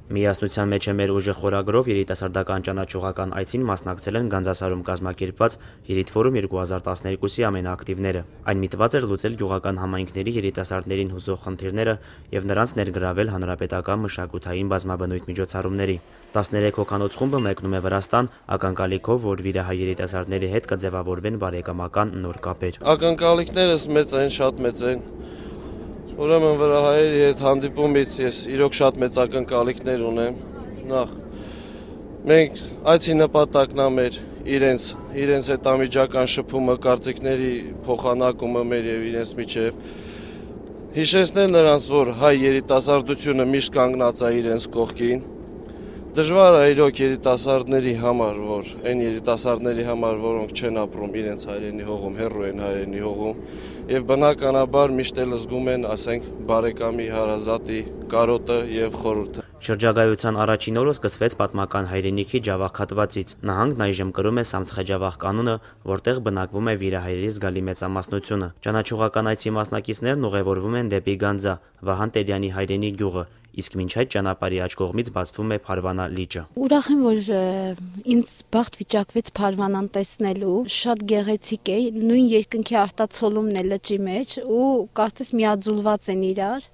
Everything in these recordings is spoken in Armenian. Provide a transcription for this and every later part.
Միասնության մեջ է մեր ուժը խորագրով երիտասարդական ճանաչողական այցին մասնակցել են Գանձասարում կազմակերպված Երիտ Ֆորում 2012-ի ամենաակտիվները։ Այն միտված էր լուծել գյուղական համայնքների երիտասարդներին հուզող խնդիրները եւ նրանց ներգրավել հանրապետական մշակութային բազմաբնույթ միջոցառումների։ 13 հոգանոց խումբը մեկնում է Վրաստան, ակնկալիքով, որ վիրահայ երիտասարդների հետ կձևավորվեն բարեկամական նոր կապեր։ Ակնկալիքներս մեծ են, շատ մեծ են։ Ուրեմն վրահայերի հետ հանդիպումից ես իրոք շատ մեծ ակնկալիքներ ունեմ։ Նախ մենք այցի նպատակն է իրենց հետ անմիջական շփումը, կարծիքների փոխանակումը մեր եւ իրենց միջեւ հիշեցնել նրանց, որ հայ երիտասարդությունը միշտ կանգնած է իրենց կողքին։ Դժվար է իրոք երիտասարդների համար, որ այն երիտասարդների համար, որոնք չեն ապրում իրենց հայրենի հողում, հեռու են հայրենի հողում, եւ բնականաբար միշտ էլ զգում են, ասենք, բարեկամի, հարազատի կարոտը եւ խորհուրդը։ Շրջագայության առաջին օրը սկսվեց պատմական հայրենիքի ջավախ հատվածից։ Նահանգն այժմ կրում է Սամցխեջավախ կանունը, որտեղ բնակվում է վիրահայերի զգալի մեծամասնությունը։ Ճանաչողական այցի մասնակիցներն ուղևորվում են դեպի Գանձա, Վահան Տերյանի հայրենի գյուղը, իսկ մինչ այդ ճանապարհի աջ կողմից բացվում է Փարվանա լիճը։ Ուրախ եմ, որ ինձ բախտ վիճակվեց Փարվանան տեսնելու, շատ գեղեցիկ է, նույն երկնքի արտացոլումն է լճի մեջ ու կարծես միաձուլված են իրար։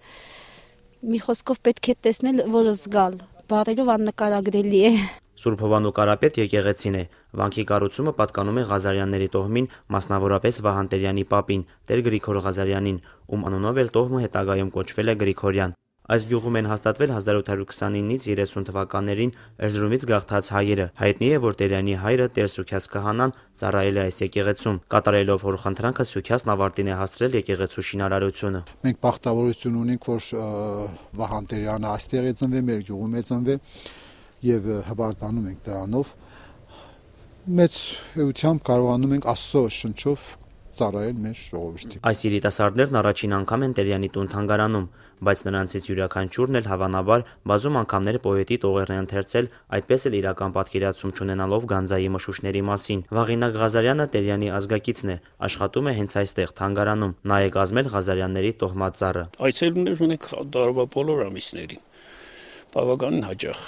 Մի խոսքով պետք է տեսնել, որը զգալ, բառերով աննկարագրելի է։ Սուրբ Հովանու Կարապետ եկեղեցին է։ Վանքի կառուցումը պատկանում է Ղազարյանների տոհմին, մասնավորապես Վահան Տերյանի պապին, Տեր Գրիգոր Ղազարյանին, ում անունով էլ տոհմը հետագայում կոչվել է Գրիգորյան։ Այս գյուղում են հաստատվել 1829-ից 30 թվականներին Էրզրումից գաղթած հայերը։ Հայտնի է, որ Տերյանի հայրը Տեր Սուքյաս քահանան ծառայել է այս եկեղեցում։ Կատարելով հորխնդրանքը Սուքյասն ավարտին է հասցրել եկեղեցու շինարարությունը։ Մենք բախտավորություն ունենք, որ Վահան Տերյանը այստեղ է ծնվել, մեր գյուղում է ծնվել եւ հպարտանում ենք դրանով։ Մեծ էությամբ կարողանում ենք Աստծո շնչով ծառայել մեր ժողովրդին։ Այս երիտասարդներն առաջին անգամ են Տերյանի տուն թանգարանում, բայց նրանցից յուրաքանչյուրն էլ հավանաբար բազում անգամներ պոետի տողերն է ընթերցել, այդպես էլ իրական պատկերացում չունենալով Գանձայի մշուշների մասին։ Վաղինակ Ղազարյանը Տերյանի ազգակիցն է, աշխատում է հենց այստեղ թանգարանում, նա է կազմել Ղազարյանների տոհմածառը։ Այցելուներ ունենք տարվա բոլոր ամիսներին, բավականին հաճախ։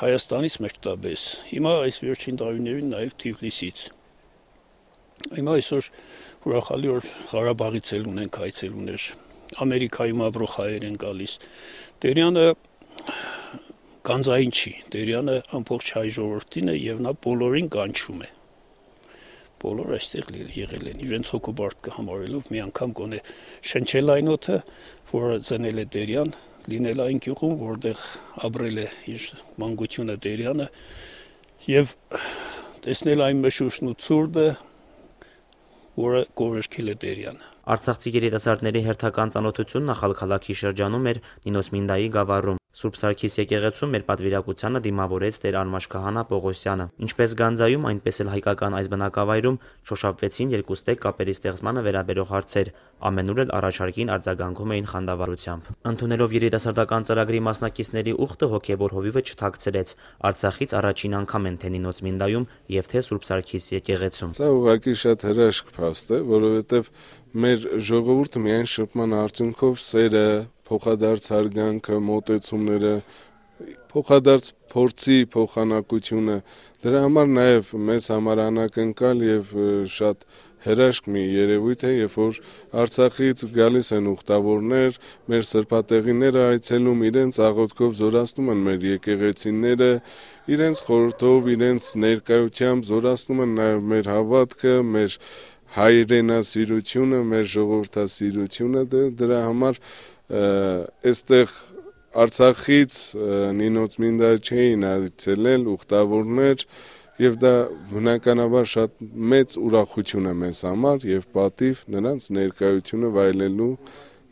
Հայաստանից մեկտաբես, հիմա այս վերջին տարիներին նաև Թիֆլիսից։ Հիմա այսօր ուրախալի որ Ղարաբաղից էլ ունենք այցելուներ, Ամերիկայում ապրող հայեր են գալիս։ Տերյանը Գանձային չի, Տերյանը ամբողջ հայ ժողովրդին է եւ նա բոլորին կանչում է։ Բոլոր այստեղ եղել են, իրենց հոգուբարտ կհամարելով մի անգամ գոնե շնչել այն օդը, որը ծնել է Տերյան, լինել այն գյուղում, որտեղ ապրել է իր մանկությունը Տերյանը եւ տեսնել այն մշուշն ու ցուրտը, որը գովերքել է Տերյանը։ Արցախցի երիտասարդների հերթական ծանոթությունն Ախալքալաքի շրջանում էր Նինոս Մինդայի գավառում։ Սուրբ Սարգիս եկեղեցում մեր պատվիրակությանը դիմավորեց Տեր Արմաշ քահանա Պողոսյանը։ Ինչպես Գանձայում, այնպես էլ հայկական այս բնակավայրում շոշափվեցին երկուստեք կապերի ստեղծմանը վերաբերող հարցեր, ամենուր էլ առաջարկին արձագանքում էին խանդավառությամբ։ Ընդունելով երիտասարդական ծրագրի մասնակիցների ուխտը հոգևոր հովիվը չթաքցրեց։ Արցախից առաջին անգամ են թե Նինոց Մինդայում եւ թե Սուրբ Սարգիս եկեղեցում։ Սա ուղղակի շատ հրաշք փաստ է, որովհետեւ մեր ժողովուրդը միայն շփման արդյունքով սերը, փոխադարձ հարգանքը, մոտեցումները, փոխադարձ փորձի փոխանակությունը, դրա համար նաև մեզ համար անակնկալ եւ շատ հրաշք մի երևույթ է, երբ որ Արցախից գալիս են ուխտավորներ, մեր սրբատեղիները այցելում, իրենց աղոթքով զորացնում են մեր եկեղեցիները, իրենց խորհրդով, իրենց ներկայությամբ զորացնում են նաև մեր հավատքը, մեր հայրենասիրությունը, մեր ժողովրդասիրությունը, դրա համար այստեղ Արցախից Նինոց Մինդա չէին այցելել ուխտավորներ եւ դա բնականաբար շատ մեծ ուրախություն է մեզ համար եւ պատիվ նրանց ներկայությունը վայելելու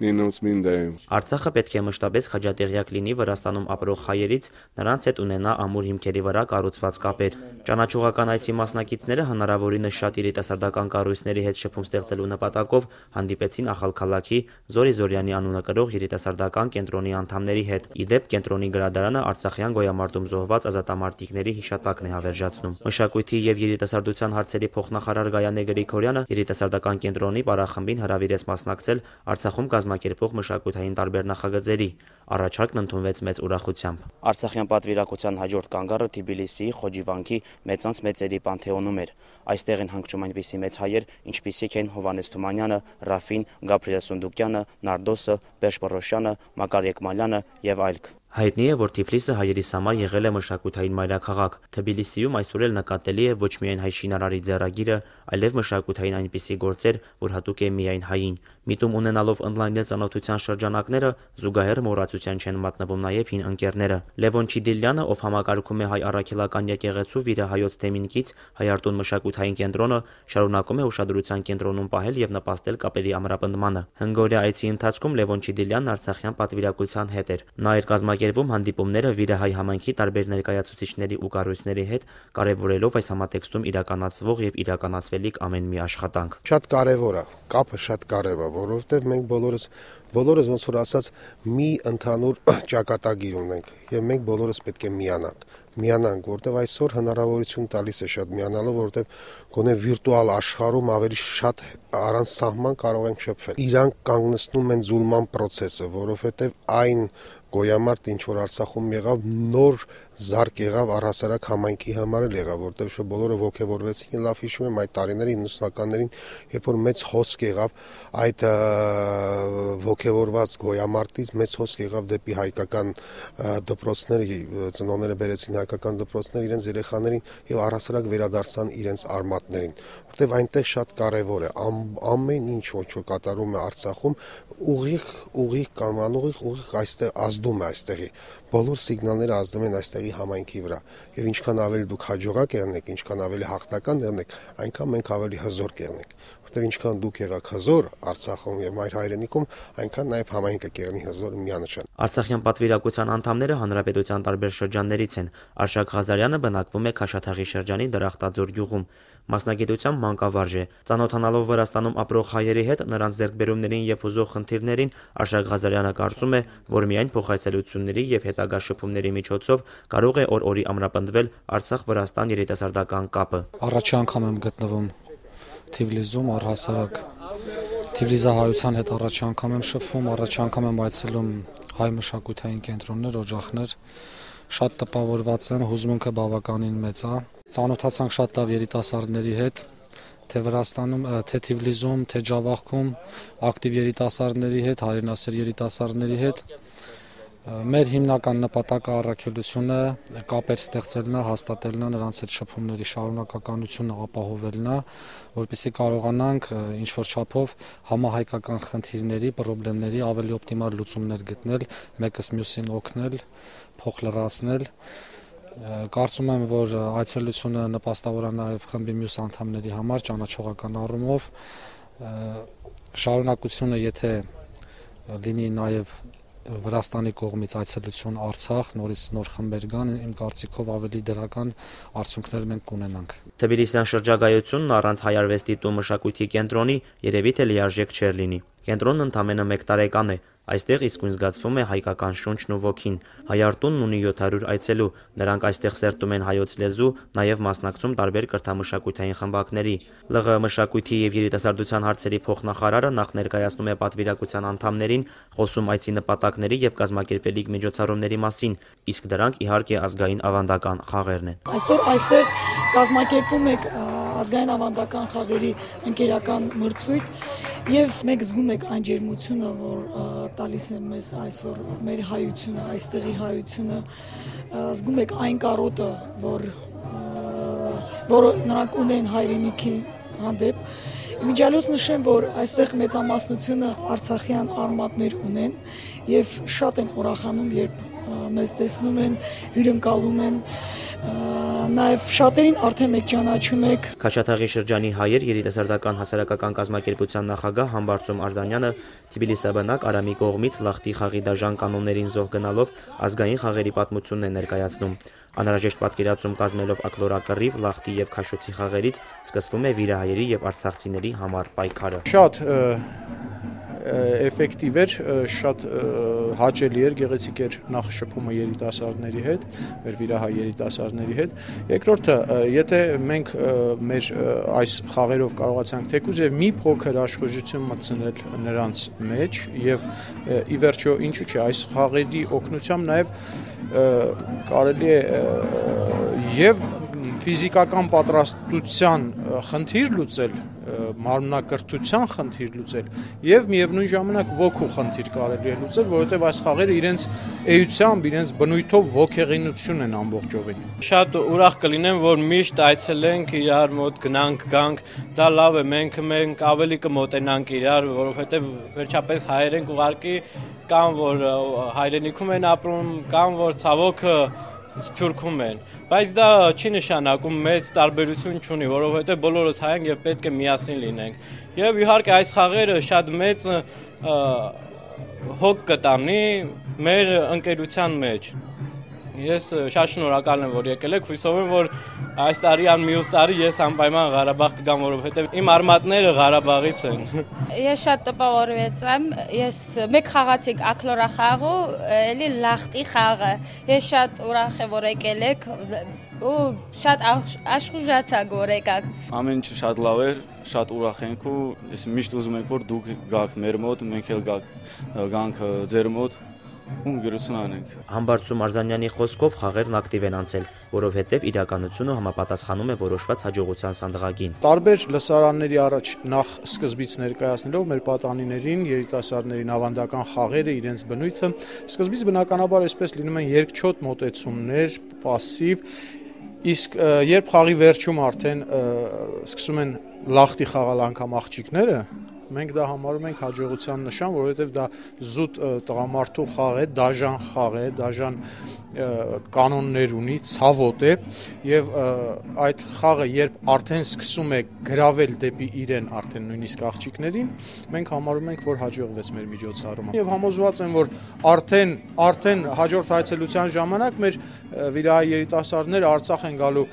Նինոց Մինդայում։ Արցախը պետք է մշտապես խաչատեղյակ լինի Վրաստանում ապրող հայերից, նրանց հետ ունենա ամուր հիմքերի վրա կառուցված կապեր։ Ճանաչողական այցի մասնակիցները հնարավորինս շատ երիտասարդական կառույցների հետ շփում ստեղծելու նպատակով հանդիպեցին Ախալքալաքի Զորի Զորյանի անունը կրող երիտասարդական կենտրոնի անդամների հետ։ Իդեպ կենտրոնի գրադարանը Արցախյան գոյամարտում զոհված ազատամարտիկների հիշատակն է հավերժացնում։ Մշակույթի եւ երիտասարդության հարցերի փոխնախարար Գայանե Գրիգորյանը երիտասարդական կենտրոնի պարախմբին հրավիրեց մասնակցել Արցախում կազմակերպող մշակութային տարբեր նախագծերի։ Առաջարկն ընդունվեց մեծ ուրախությամբ։ Արցախյան պատվիրակության հաջորդ կանգառը Թբիլիսիի Խոջիվանքի մեծանց մեծերի պանթեոնում էր։ Այստեղ են հանգչում այնպիսի մեծ հայեր, ինչպիսիք են Հովհաննես Թումանյանը, Ռաֆին, Գաբրիել Սունդուկյանը, Նարդոսը, Բերշ Պռոշյանը, Մակար Եկմալյանը եւ այլք։ Հայտնի է, որ Թիֆլիսը հայերիս համար եղել է մշակութային մայրաքաղաք։ Թբիլիսիում այսօր էլ նկատելի է ոչ միայն հայ շինարարի ձեռագիրը, այլև մշակութային այնպիսի գործեր, որ հատուկ է միայն հային։ Միտում ունենալով ընդլայնել ծանոթության շրջանակները, զուգահեռ մոռացության չեն մատնվում նաև հին ընկերները։ Լևոն Չիդիլյանը, ով համակարգում է հայ առաքելական եկեղեցու վիրահայոց թեմինքից Հայարտուն մշակութային կենտրոնը, շարունակում է ուշադրության կենտրոնում պահել եւ նպաստել կապերի ամրապնդմանը։ Հնգօրյա այցի ընթացքում Լևոն Չիդիլյանն արցախյան պատվիրակության հետ էր։ Նա էր կազմակերպում հանդիպումները վիրահայ համայնքի տարբեր ներկայացուցիչների ու կառույցների հետ, կարևորելով այս համատեքստում իրականացվող եւ իրականացվելիք ամեն մի աշխատանք։ Շատ կարևոր է, կապը շատ կարևոր է, որովհետեւ մենք բոլորս ոնց որ ասած մի ընդհանուր ճակատագիր ունենք եւ մենք բոլորս պետք է միանանք, որտեվ այսօր հնարավորություն տալիս է շատ միանալու, որտեվ գոնե վիրտուալ աշխարհում ավելի շատ առանց սահման կարող ենք շփվել։ Իրանք կանգնեցնում են զուլման process-ը, որովհետեվ այն գոյամարտ ինչ որ Արցախում եղավ, նոր զարգ եղավ առհասարակ համայնքի համար էլ եղավ, որտեղ շո բոլորը ողջևորվեցին, լավ հիշում եմ այդ տարիներին 90-ականներին, երբ որ մեծ հոսք եղավ այդ ողջևորված գոյամարտից, մեծ հոսք եղավ դեպի հայկական դպրոցները, ծնողները բերեցին հայկական դպրոցներ իրենց երեխաներին եւ առհասարակ վերադարձան իրենց արմատներին, որտեղ այնտեղ շատ կարեւոր է ամեն ինչ ոչ որ կատարում է Արցախում ուղիղ կամ անուղիղ այստեղ ազդում է այստեղի բոլոր սիգնալները ազդում են այստեղի համայնքի վրա եւ ինչքան ավելի դուք հաջողակ եղնեք, ինչքան ավելի հաղթական եղնեք, այնքան մենք ավելի հզոր կեղնենք, որտեղ ինչքան դուք եղաք հզոր Արցախում եւ այլ հայրենիքում, այնքան նաեւ համայնքը կեղնի հզոր միանշան։ Արցախյան պատվիրակության անդամները հանրապետության տարբեր շրջաններից են։ Արշակ Ղազարյանը բնակվում է Քաշաթաղի շրջանի Դրախտաձոր գյուղում։ Մասնագիտությամբ մանկավարժ է։ Ծանոթանալով Վրաստանում ապրող հայերի հետ նրանց ձեռքբերումներին եւ հուզող խնդիրներին, Արշակ Ղազարյանը կարծում է, որ միայն փոխայցելությունների եւ հետագա շփումների միջոցով կարող է օր-օրի ամրապնդվել Արցախ-Վրաստան երիտասարդական կապը։ Առաջի անգամ եմ գտնվում Թիֆլիսում, առհասարակ Թիֆլիսահայության հետ առաջի անգամ եմ շփվում, առաջի անգամ եմ այցելում հայ մշակութային կենտրոններ, օջախներ, շատ տպավորված եմ, հուզմունքը բավականին մեծ է։ Ծանոթացանք շատ լավ երիտասարդների հետ, թե Վրաստանում, թե Թիֆլիսում, թե Ջավախքում, ակտիվ երիտասարդների հետ, հայրենասեր երիտասարդների հետ։ Մեր հիմնական նպատակը առաքելությունը կապեր ստեղծելն է, հաստատելն է, նրանց հետ շփումների շարունակականությունը ապահովելն է, որպեսզի կարողանանք ինչ-որ չափով համահայկական խնդիրների, խնդիրների ավելի օպտիմալ լուծումներ գտնել, մեկս մյուսին օգնել, փոխ լրացնել։ Կարծում եմ, որ այցելությունը նպաստավոր է նաև խմբի մյուս անդամների համար ճանաչողական առումով, շարունակությունը եթե լինի նաև Վրաստանի կողմից այցելություն Արցախ, նորից նոր խմբեր գան, իմ կարծիքով ավելի դրական արդյունքներ մենք կունենանք։ Թբիլիսյան շրջագայությունն առանց հայ արվեստի տուն մշակույթի կենտրոնի երևի թե լիարժեք չէր լինի։ Կենտրոնն ընդամենը 1 տարեկան է։ Այստեղ իսկույն զգացվում է հայկական շունչն ու ոգին։ Հայարտունն ունի 700 այցելու, նրանք այստեղ սերտում են հայոց լեզու, նաև մասնակցում տարբեր կրթամշակութային խմբակների։ ԼՂ մշակույթի եւ երիտասարդության հարցերի փոխնախարարը նախ ներկայացնում է պատվիրակության անդամներին, խոսում այցի նպատակների եւ կազմակերպելիք միջոցառումների մասին, իսկ դրանք իհարկե ազգային ավանդական խաղերն են։ Այսօր այստեղ կազմակերպում եք ազգային ավանդական խաղերի ընկերական մրցույթ եւ մենք զգում ենք այն ջերմությունը, որ տալիս է մեզ այսօր մեր հայությունը, այստեղի հայությունը, զգում եք այն կարոտը, որ նրանք ունեն հայրենիքի հանդեպ։ Իմիջիալոց նշեմ, որ այստեղ մեծամասնությունը արցախյան արմատներ ունեն եւ շատ են ուրախանում, երբ մեզ տեսնում են, հյուրընկալում են, նաև շատերին արդեն մեկ ճանաչում եք։ Քաշաթաղի շրջանի հայեր երիտասարդական հասարակական կազմակերպության նախագահ Համբարձում Արզանյանը Թբիլիսաբնակ Արամի կողմից Լախտի խաղի դաժան կանոններին զոհ գնալով ազգային խաղերի պատմությունն է ներկայացնում։ Անհրաժեշտ պատկերացում կազմելով ակլորակռիվ, Լախտի եւ Քաշոցի խաղերից սկսվում է վիրահայերի եւ արցախցիների համար պայքարը։ Շատ էֆեկտիվ էր, շատ հաճելի էր, գեղեցիկ էր նախ շփումը երիտասարդների հետ, մեր վիրահայ երիտասարդների հետ։ Երկրորդը, եթե մենք մեր այս խաղերով կարողացանք թեկուզ եւ մի փոքր աշխուժություն մտցնել նրանց մեջ եւ ի վերջո ինչու՞ չէ, այս խաղերի օգնությամբ նաեւ կարելի է եւ ֆիզիկական պատրաստության խնդիր լուծել, մարմնակրթության խնդիր լուծել եւ միևնույն ժամանակ ոգու խնդիր կարելի է լուծել, որովհետեւ այս խաղերը իրենց էությամբ, իրենց բնույթով ոգեղինություն են ամբողջովին։ Շատ ուրախ կլինեմ, որ միշտ այցելենք իրար մոտ, գնանք, դա լավ է, մենք ավելի կմոտենանք իրար, որովհետեւ վերջապես հայեր ենք ուղարկի, կամ որ հայրենիքում են ապրում, կամ որ ցավոք Սփյուռքում են, բայց դա չի նշանակում մեծ տարբերություն չունի, որովհետև բոլորս հայ ենք եւ պետք է միասին լինենք։ Եվ իհարկե այս խաղերը շատ մեծ հոգ կտանի մեր ընկերության մեջ։ Ես շատ շնորհակալ եմ, որ եկել եք, հույսով եմ, որ այս տարի մյուս տարի ես անպայման Ղարաբաղ կգամ, որովհետև իմ արմատները Ղարաբաղից են։ Ես շատ տպավորվեցամ, մեկ խաղացինք ակլորա խաղը, էլի լախտի խաղը։ Ես շատ ուրախ եմ, որ եկել եք ու շատ աշխուժացակ որ եկաք։ Ամեն ինչ շատ լավ էր, շատ ուրախ ենք ու ես միշտ ուզում ենք, որ դուք գաք մեր մոտ, մենք էլ գանք ձեր մոտ։ Ուրգրություն անենք։ Համբարձում Արզանյանի խոսքով խաղերն ակտիվ են անցել, որովհետև իրականությունը համապատասխանում է որոշված հաջողության սանդղակին։ Տարբեր լսարանների առաջ նախ սկզբից ներկայացնելով մեր պատանիներին, երիտասարդներին ավանդական խաղերը, իրենց բնույթը, սկզբից բնականաբար այսպես լինում են երկչոտ մոտեցումներ, պասիվ, իսկ երբ խաղի վերջում արդեն սկսում են լախտի խաղալ անգամ աղջիկները, մենք դա համարում ենք հաջողության նշան, որովհետև դա զուտ տղամարդու խաղ է, դաժան խաղ է, դաժան կանոններ ունի, ցավոտ է եւ այդ խաղը երբ արդեն սկսում է գրավել դեպի իրեն արդեն նույնիսկ աղջիկներին, մենք համարում ենք, որ հաջողվեց մեր միջոցառումը։ Եվ համոզված եմ, որ արդեն հաջորդ այցելության ժամանակ մեր վիրահայ երիտասարդները Արցախ են գալու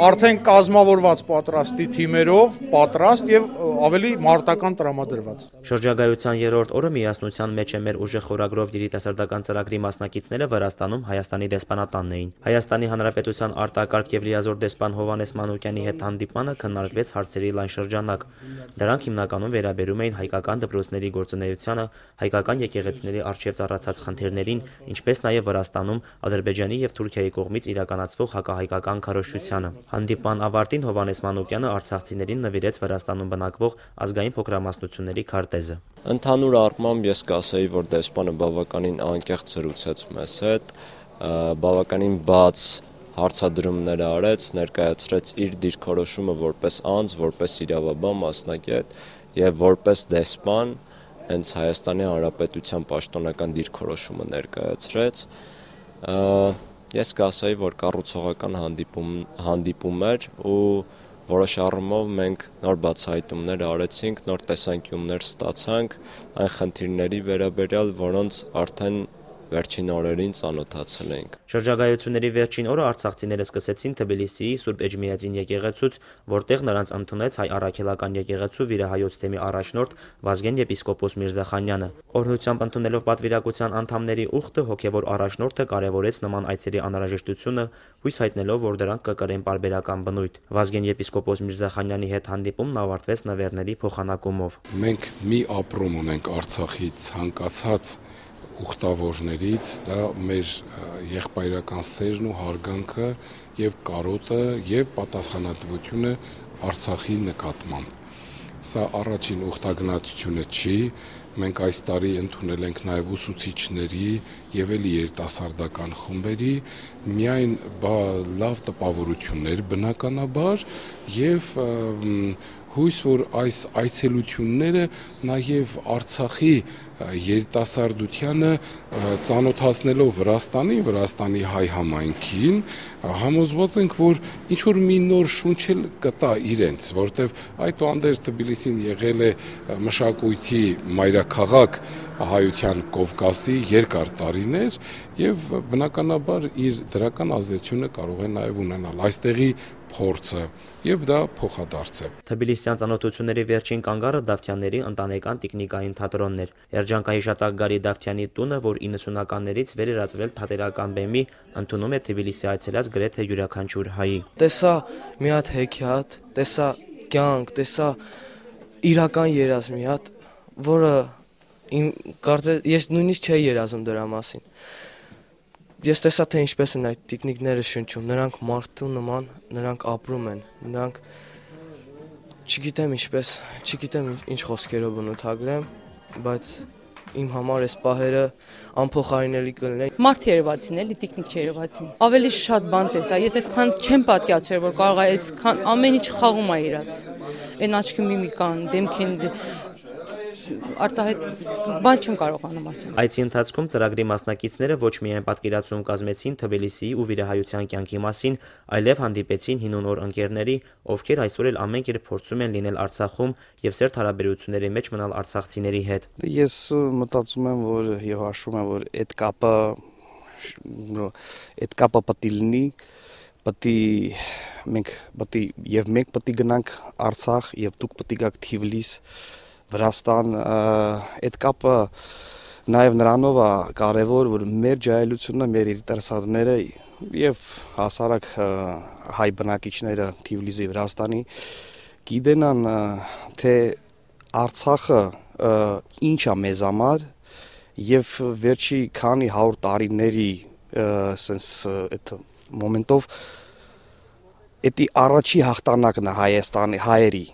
արդեն կազմավորված պատրաստի թիմերով, պատրաստ եւ ավելի մարտական տրամադրված։ Շրջագայության երրորդ օրը միասնության մեջ է մեր ուժեղ խորագրով երիտասարդական ծրագրի մասնակիցները Վրաստանում Հայաստանի դեսպանատանն էին։ Հայաստանի Հանրապետության արտակարգ եւ լիազոր դեսպան Հովհաննես Մանուկյանի հետ հանդիպմանը քննարկվեց հարցերի լայն շրջանակ։ Դրանք հիմնականում վերաբերում էին հայկական դպրոցների գործունեությանը, հայկական եկեղեցիների առջև ծառացած խնդիրներին, ինչպես նաեւ Վրաստանում Ադրբեջանի եւ Թուրքիայի կողմից իրականացվող հակահայկական քարոզչությանը։ Հանդիպման ավարտին Հովհաննես Մանուկյանը արցախցիներին նվիրեց Վրաստանում բնակվող ազգային փոքրամասնությունների քարտեզը։ Ընդհանուր առմամբ ես կասեի, որ դեսպանը բավականին անկեղծ զրուցեց մեզ հետ, բավականին բաց հարցադրումներ արեց, ներկայացրեց իր դիրքորոշումը որպես անձ, որպես իրավաբան մասնագետ եւ որպես դեսպան հենց Հայաստանի Հանրապետության պաշտոնական դիրքորոշումը ներկայացրեց։ Ես կասեի, որ կառուցողական հանդիպում էր ու որոշ առումով մենք նոր բացահայտումներ արեցինք, նոր տեսանկյուններ ստացանք այն խնդիրների վերաբերյալ, որոնց արդեն վերջին օրերին ծանոթացել ենք։ Շրջագայությունների վերջին օրը արցախցիները սկսեցին Թբիլիսիի Սուրբ Էջմիածին եկեղեցուց, որտեղ նրանց ընդունեց հայ առաքելական եկեղեցու վիրահայոց թեմի առաջնորդ Վազգեն եպիսկոպոս Միրզախանյանը։ Օրհնությամբ ընդունելով պատվիրակության անդամների ուխտը հոգևոր առաջնորդը կարևորեց նման այցերի անհրաժեշտությունը, հույս հայտնելով, որ դրանք կկրեն պարբերական բնույթ։ Վազգեն եպիսկոպոս Միրզախանյանի հետ հանդիպումն ավարտվեց նվերների փոխանակումով։ Մենք մի ապրում ունենք Արցախի ցանկացած ուխտավորներից, դա մեր եղբայրական սերն ու հարգանքը եւ կարոտը եւ պատասխանատվությունը Արցախի նկատմամբ։ Սա առաջին ուխտագնացությունը չի, մենք այս տարի ընդունել ենք նաեւ ուսուցիչների եւ էլի երիտասարդական խմբերի միայն լավ տպավորություններ բնականաբար եւ հույս, որ այս այցելությունները նաև Արցախի երիտասարդությանը ծանոթացնելով Վրաստանի հայ համայնքին, համոզված ենք, որ ինչ-որ մի նոր շունչ էլ կտա իրենց, որտեվ այդուհանդերձ Թբիլիսին եղել է մշակույթի մայրաքաղաք, հայության Կովկասի երկար տարիներ եւ բնականաբար իր դրական ազդեցությունը կարող է նաեւ ունենալ այստեղի փորձը եւ դա փոխադարձ է։ Թբիլիսյան ծանոթությունների վերջին կանգառը Դավթյանների ընտանեկան տիկնիկային թատրոնն էր։ Երջանկայի շատակգարի Դավթյանի տունը, որ 90-ականներից վերերացվել թատերական բեմի, ընդունում է Թբիլիսի այցելած գրեթե յուրաքանչյուր հայի։ Տեսա մի հատ հեքիաթ, տեսա կյանք, տեսա իրական երազ մի հատ, որը ես նույնիսկ չէի երազում դրա մասին։ Ես տեսա, թե ինչպես են այդ տիկնիկները շնչում, նրանք մարդու նման, նրանք ապրում են, նրանք չգիտեմ ինչ խոսքերով բնութագրեմ, բայց իմ համար այս պահերը անփոխարինելի կլինեն։ Մարդ երևացին, էլի տիկնիկ չերևացին։ Ավելի շատ բան տեսա, ես այսքան չեմ պատկերացրել, որ կարող է այսքան ամեն ինչ խաղում է իրաց։ Այն աչքի միմիկան, դեմքին արտահայտ բան չեմ կարողանում ասել։ Այցի ընթացքում ծրագրի մասնակիցները ոչ միայն պատկերացում կազմեցին Թբիլիսիի ու վիրահայության կյանքի մասին, այլև հանդիպեցին հին ու նոր ընկերների, ովքեր այսօր էլ ամեն կերպ փորձում են լինել Արցախում եւ սերտ հարաբերությունների մեջ մնալ արցախցիների հետ։ Ես մտածում եմ, որ եւ հաշվում եմ, որ այդ կապը պետք է լինի, մենք պետք է գնանք Արցախ եւ դուք պետք է գաք Թիֆլիս Վրաստան, այդ կապը նաև նրանով է կարևոր, որ մեր ջահելությունը, մեր երիտասարդները եւ հասարակ հայ բնակիչները Թիֆլիսի Վրաստանի գիտենան, թե Արցախը ինչ է մեզ համար եւ վերջի քանի 100 տարիների sense այդ մոմենտով էդի առաջի հաղթանակն է Հայաստանի հայերի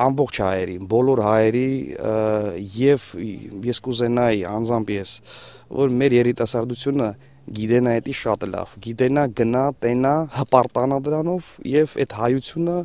ամբողջ հայերի, բոլոր հայերի եւ ես կուզենայի անձամբ ես, որ մեր երիտասարդությունը գիտենա էդի շատ լավ, գիտենա գնա, տենա, հպարտանա դրանով եւ այդ հայությունը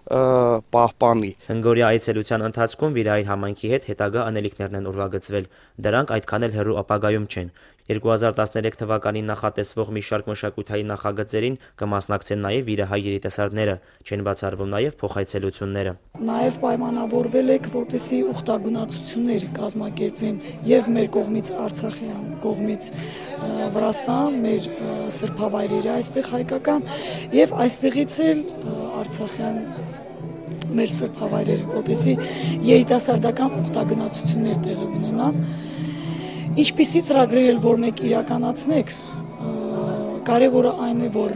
պահպանի։ Հնգորյա այցելության ընթացքում Վիրահայ համայնքի հետ հետագա անելիքներն են ուրվագծվել։ Դրանք այդքան էլ հեռու ապագայում չեն։ 2013 թվականին նախատեսվող մի շարք մշակութային նախագծերին կմասնակցեն նաև Վիրահայ երիտասարդները, չեն բացառվում նաև փոխայցելությունները։ Նաև պայմանավորվել եք, որպեսզի ուխտագնացություններ կազմակերպվեն եւ մեր կողմից Արցախյան, կողմից Վրաստան, մեր սրբավայրերը այստեղ հայկական եւ այստեղից էլ Արցախյան մեր սրբավայրերը, որպեսզի երիտասարդական ուխտագնացություններ տեղի ունենան։ Ինչպիսի ծրագրեր որ մեկ իրականացնեք, կարևորը այն է, որ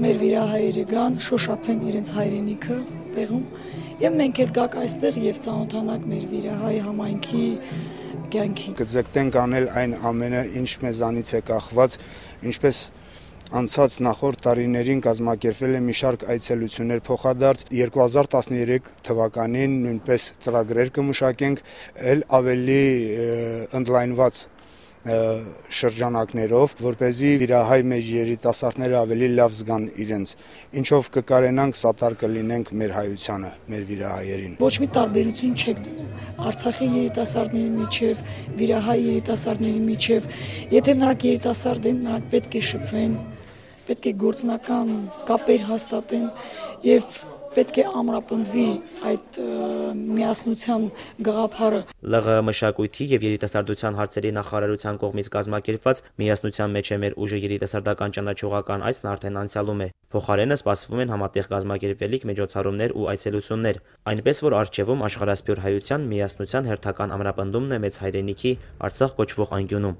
մեր վիրահայերը գան, շոշափեն իրենց հայրենիքը տեղում, եւ մենք էլ գաք այստեղ եւ ծանոթանանք մեր վիրահայ համայնքի կյանքին։ Կձգտենք անել այն ամենը, ինչ մեզանից է կախված, ինչպես անցած նախորդ տարիներին կազմակերպվել է մի շարք այցելություններ փոխադարձ 2013 թվականին նույնպես ծրագրեր կմշակենք ել ավելի ընդլայնված շրջանակներով, որպեսզի վիրահայ մեր երիտասարդները ավելի լավ զգան իրենց, ինչով կկարենանք սատար կլինենք մեր հայությանը, մեր վիրահայերին։ Ոչ մի տարբերություն չեք դնում Արցախի երիտասարդների միջև, վիրահայ երիտասարդների միջև, եթե նրանք երիտասարդ են, նրանք պետք է շփվեն, պետք է գործնական կապեր հաստատեն եւ պետք է ամրապնդվի այդ միասնության գաղափարը։ ԼՂ մշակույթի եւ երիտասարդության հարցերի նախարարության կողմից կազմակերպված միասնության մեջ է մեր ուժը երիտասարդական ճանաչողական այցն արդեն անցյալում է։ Փոխարենը սպասվում են համատեղ կազմակերպվելիք միջոցառումներ ու այցելություններ, այնպես որ առջևում աշխարհասփյուր հայության միասնության հերթական ամրապնդումն է մեծ հայրենիքի Արցախ կոչվող անկյունում։